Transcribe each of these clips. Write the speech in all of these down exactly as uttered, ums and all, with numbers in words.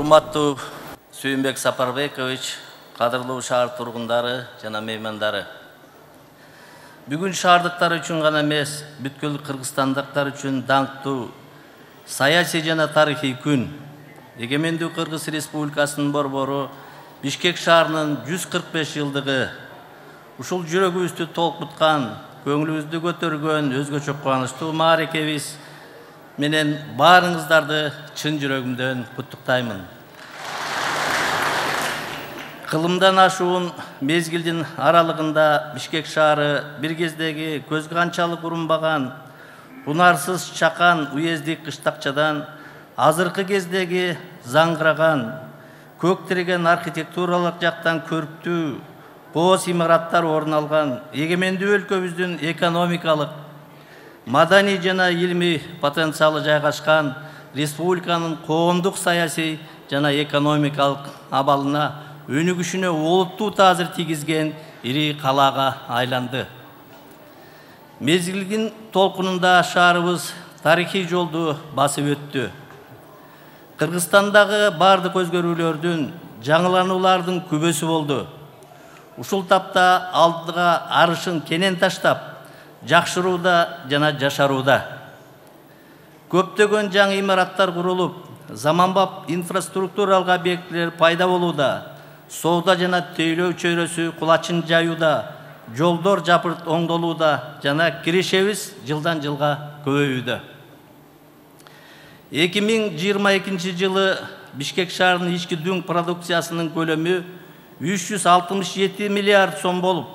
Урматтуу Сүйүнбек Сапарбекович, кадырлуу шаар тургундары жана меймандары. Бүгүн шаардыктар үчүн гана эмес, бүткүл кыргызстандыктар үчүн даңктуу саясий жана тарыхый күн. Эгемендүү Кыргыз Республикасынын борбору Бишкек шаарынын жүз кырк беш жылдыгы. Ушул жүрөгүбүздү толкуткан, көңүлүбүздү көтөргөн өзгөчө кубанычтуу мааракебиз менен баарыңыздарды чын жүрөгүмдөн куттуктаймын. Кылымдан ашуун мезгилдин аралыгында Бишкек шаары бир кездеги көзгө канчалык урунбаган, унарсыз чакан уездик кыштакчадан азыркы кездеги заңгыраган, көк тиреген архитектуралык жактан көрктүү боз имараттар орун алган эгемендүү өлкөбүздүн экономикалык, маданий жана илимий потенциалы жайгашкан республиканын коомдук саясий жана экономикалык абалына өнүгүшүнө олуттуу таасир тийгизген ири калаага айланды. Мезгилдин толкунунда шаарыбыз тарыхый жолду басып өттү. Кыргызстандагы бардык өзгөрүүлөрдүн, жаңылануулардын күбөсү болду. Ушул тапта алдыга арышын кенен таштап, жакшырууда жана жашарууда. Көптөгөн жаңы имараттар курулуп, заманбап инфраструктуралык объектилер пайда болууда, соода жана тейлөө чөйрөсү кулачын жаюуда, жолдор жапырт оңдолууда жана кирешебиз жылдан жылга көбөйүүдө. эки миң жыйырма экинчи жылы Бишкек шаарынын ички дүң продукциясынын көлөмү үч жүз алтымыш жети миллиард сом болуп,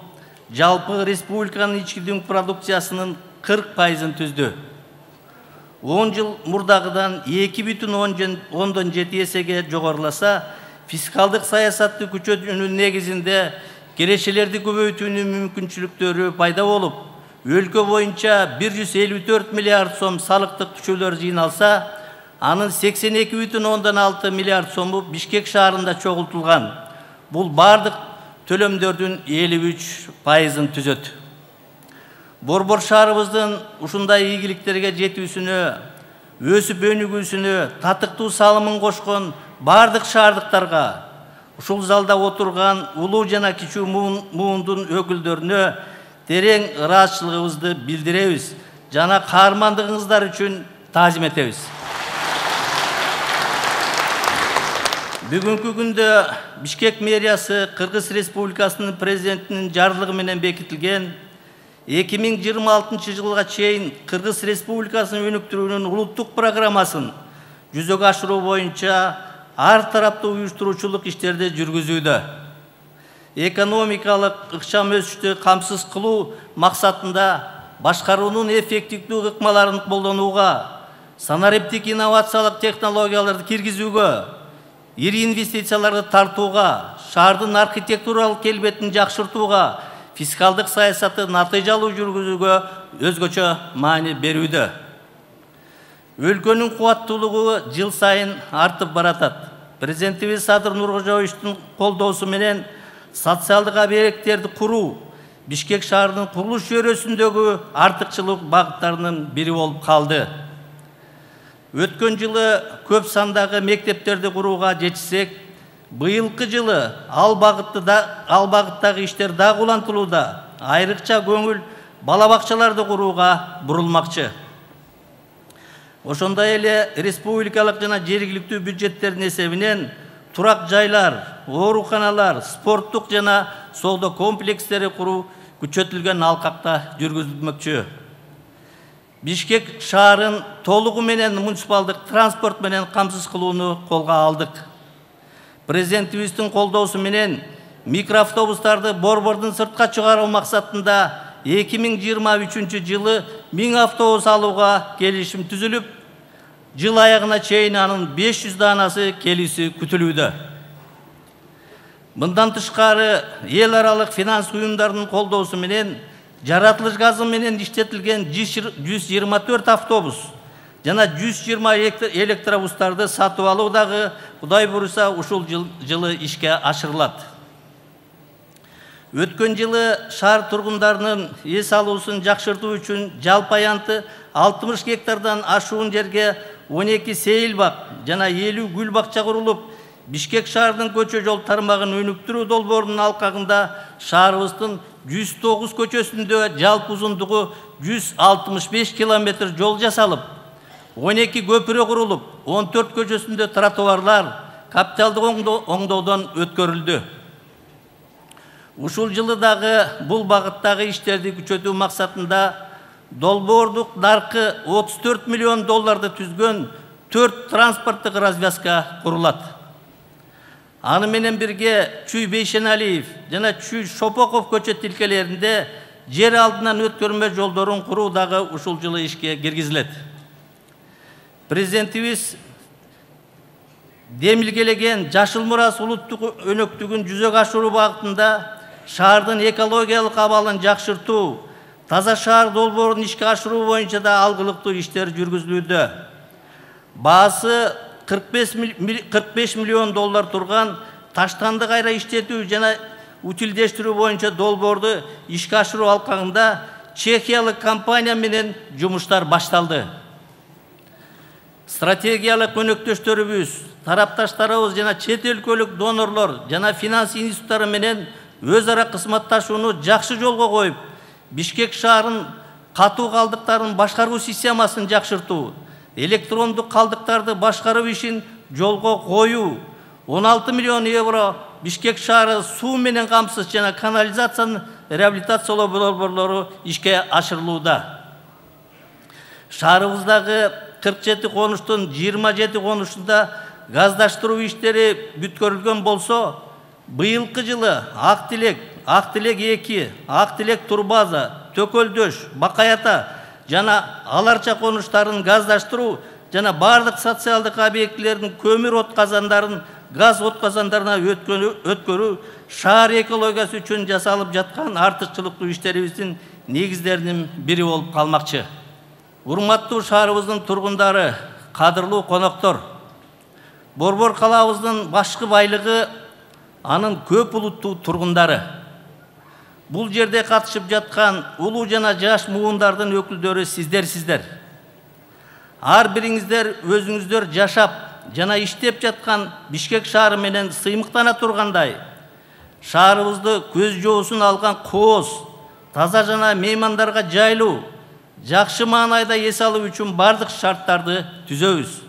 жалпы республиканын ички дүң продукциясынын кырк пайызын түздү. он жыл мурдагыдан эки бүтүн ондон жети эсеге жогоруласа, фискалдык саясатты күчөтүүнүн негизинде кирешелерди көбөйтүүнүн мүмкүнчүлүктөрү пайда болуп, өлкө боюнча бир жүз элүү төрт миллиард сом салыктык түшөлөр жыйналса, анын сексен эки бүтүн ондон алты миллиард сому Бишкек шаарында чогултулган. Бул бардык төлөмдөрдүн элүү үч пайызын түзөт. Борбор шаарыбыздын ушундай ийгиликтерге жетүүсүнө, өсүп өнүгүүсүнө татыктуу салымын кошкон бардык шаардыктарга, ушул залда отурган улуу жана кичүү муундун өкүлдөрүнө терең ыраазычылыгыбызды билдиребиз жана каармандыгыңыздар үчүн таазим этебиз. Бүгүнкү күндө Бишкек мэриясы Кыргыз Республикасынын президентинин жарлыгы менен бекитилген эки миң жыйырма алтынчы жылга чейин Кыргыз Республикасын өнүктүрүүнүн улуттук программасын жүзөгө ашыруу боюнча ар тараптуу уюштуруучулук иштерди жүргүзүүдө. Экономикалык ыкчам өсүштү камсыз кылуу максатында башкаруунун эффективдүү ыкмаларын колдонууга, санариптик инновациялык технологияларды киргизүүгө, ири инвестицияларды тартууга, шаардын архитектуралык келбетин жакшыртууга, фискалдык саясатты натыйжалуу жүргүзүүгө өзгөчө маани берүүдө. Өлкөнүн кубаттуулугу жыл сайын артып баратат. Президентибиз Садыр Нуркожоевичтин колдоосу менен социалдык объекттерди куруу Бишкек шаарынын курулуш чөйрөсүндөгү артыкчылык багыттарынын бири болуп калды. Өткөн жылы көп сандагы мектептерди курууга жетишсек, быйылкы жылы ал багыттагы иштер дагы улантылууда. Айрыкча көңүл бала бакчаларды курууга бурулмакчы. Ошондой эле республикалык жана жергиликтүү бюджеттердин эсебинен турак жайлар, ооруканалар, спорттук жана соода комплекстери куруу күчөтүлгөн алкакта жүргүзүлмөкчү. Бишкек шаарын толугу менен муниципалдык транспорт менен камсыз кылууну колго алдык. Президентибиздин колдоосу менен микроавтобустарды борбордун сыртка чыгаруу максатында эки миң жыйырма үчүнчү жылы миң автобус алууга келишим түзүлүп, жыл аягына чейин анын беш жүз даанасы келүүсү күтүлүүдө. Мындан тышкары эл аралык финанс уюмдарынын колдоосу менен жаратылыш газы менен иштетилген жүз жыйырма төрт автобус жана жүз жыйырма электробустарды сатып алуу дагы Кудай буйруса ушул жылы ишке ашырылат. Өткөн жылы шаар тургундарынын эс алуусун жакшыртуу үчүн жалпы аянты алтымыш гектардан ашуун жерге он эки сейил бак жана элүү гүл бакча курулуп, Бишкек шаарынын көчө жол тармагын өнүктүрүү долбоорунун алкагында шаарыбыздын жүз тогуз көчөсүндө жалпы узундугу жүз алтымыш беш километр жол жасалып, он эки көпүрө курулуп, он төрт көчөсүндө тротуарлар капиталдык оңдоодон өткөрүлдү. Ушул жылы дагы бул багыттагы иштерди күчөтүү максатында долбоордук наркы отуз төрт миллион долларды түзгөн төрт транспорттук развязка курулат. Аны менен бирге Чүй Бейшеналиев жана Чүй Шопоков көчө тилкелеринде жер алдынан өткөрмө жолдорун куруу дагы ушул жылы ишке киргизилет. Президентибиз демилгелеген Жашыл мурас улуттук өнөктүгүн жүзөгө ашыруу багытында шаардын экологиялык абалын жакшыртуу, таза шаар долбоорун ишке ашыруу боюнча да алгылыктуу иштер жүргүзүлүүдө. Баасы кырк беш миллион доллар турган таштанды кайра иштетүү жана утилдештирүү боюнча долбоорду ишке ашыруу алкагында чехиялык компания менен жумуштар башталды. Стратегиялык өнөктөштөрүбүз, тарапташтарыбыз жана чет өлкөлүк донорлор жана финанс институттары менен өз ара кызматташууну жакшы жолго коюп, Бишкек шаарын катуу калдыктарын башкаруу системасын жакшыртуу, электрондук калдыктарды башкаруу ишин жолго коюу, он алты миллион евро Бишкек шаары суу менен камсыз жана канализациянын реабилитациялоо долбоорлору ишке ашырылууда. Шаарыбыздагы кырк жети конуштун жыйырма жети конушунда газдаштыруу иштери бүткөрүлгөн болсо, быйылкы жылы Ак Тилек, Ак Тилек эки, Ак Тилек Турбаза, Төкөлдөш, Бакаята жана Аларча конуштарын газдаштыруу жана бардык социалдык объектилердин көмүр отказандарын газ отказандарына өткөрүү шаар экологиясы үчүн жасалып жаткан артыкчылыктуу иштерибиздин негиздеринин бири болуп калмакчы. Урматтуу шаарыбыздын тургундары, кадырлуу коноктор, Борбор калаабыздын башкы байлыгы анын көп улуттуу тургундары. Бул жерде катышып жаткан улуу жана жаш муундардын өкүлдөрү сиздер-сиздер. Ар бириңиздер өзүңүздөр жашап жана иштеп жаткан Бишкек шаары менен сыймыктана тургандай, шаарыбызды көз жоосун алган кооз, таза жана меймандарга жайлуу, жакшы маанайда эс алуу үчүн бардык шарттарды түзөбүз.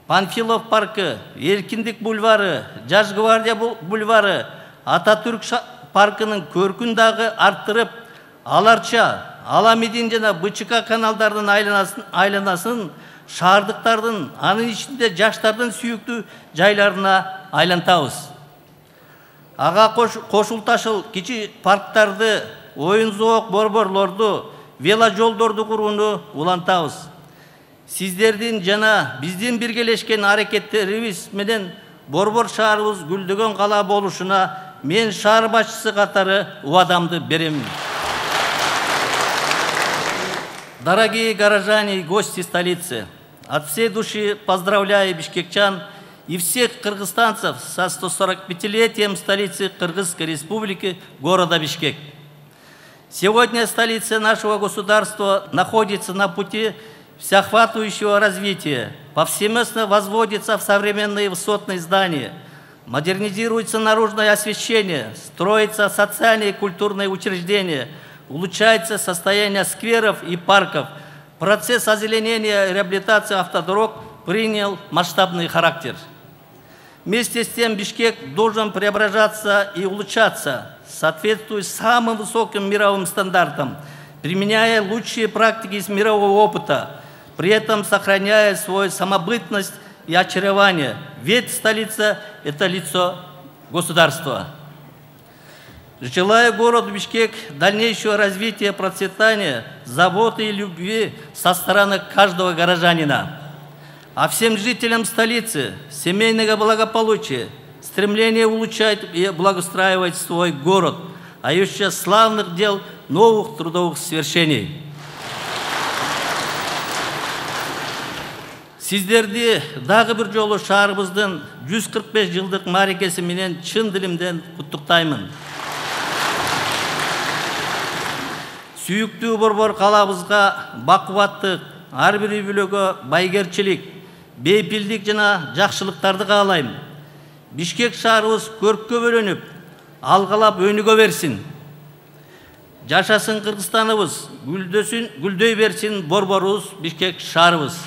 Панфилов паркы, Эркиндик бульвары, Жаш гвардия бульвары, Ататүрк паркынын көркүн дагы арттырып, Аларча, Аламидин жана БЧК каналдардын айланасын шаардыктардын, анын ичинде жаштардын сүйүктүү жайларына айлантабыз. Ага кошулташыл кичи парктарды, оюн зоок борборлорду, вело жолдорду курууну улантабыз. Сиздердин жана биздин биргелешкен аракеттерибиз менен Борбор шаарыбыз гүлдөгөн кала болушуна мен шаар башчысы катары убадамды берем. Дорогие горожане и гости столицы, от всей души поздравляю бишкекчан и всех кыргызстанцев со сто сорок пятилетием столицы Кыргызской Республики, города Бишкек. Сегодня столица нашего государства находится на пути всеохватывающего развития, повсеместно возводится в современные высотные здания, модернизируется наружное освещение, строятся социальные и культурные учреждения, улучшается состояние скверов и парков. Процесс озеленения и реабилитации автодорог принял масштабный характер. Вместе с тем Бишкек должен преображаться и улучшаться, соответствуя самым высоким мировым стандартам, применяя лучшие практики из мирового опыта, при этом сохраняя свою самобытность и очарование. Ведь столица – это лицо государства. Желаю городу Бишкек дальнейшего развития, процветания, заботы и любви со стороны каждого горожанина. А всем жителям столицы семейного благополучия, стремления улучшать и благоустраивать свой город, а еще славных дел, новых трудовых свершений. Сиздерди дагы бир жолу шаарыбыздын жүз кырк беш жылдык мааракеси менен чын дилимден куттуктаймын. Сүйүктүү Борбор калаабызга бакубаттык, ар бир үй бүлөгө байгерчилик, бейпилдик жана жакшылыктарды каалайм. Бишкек шаарыбыз көрккө бөлөнүп, алгалап өнүгө берсин. Жашасын Кыргызстаныбыз, гүлдөсүн, гүлдөй берсин борборубуз, Бишкек шаарыбыз.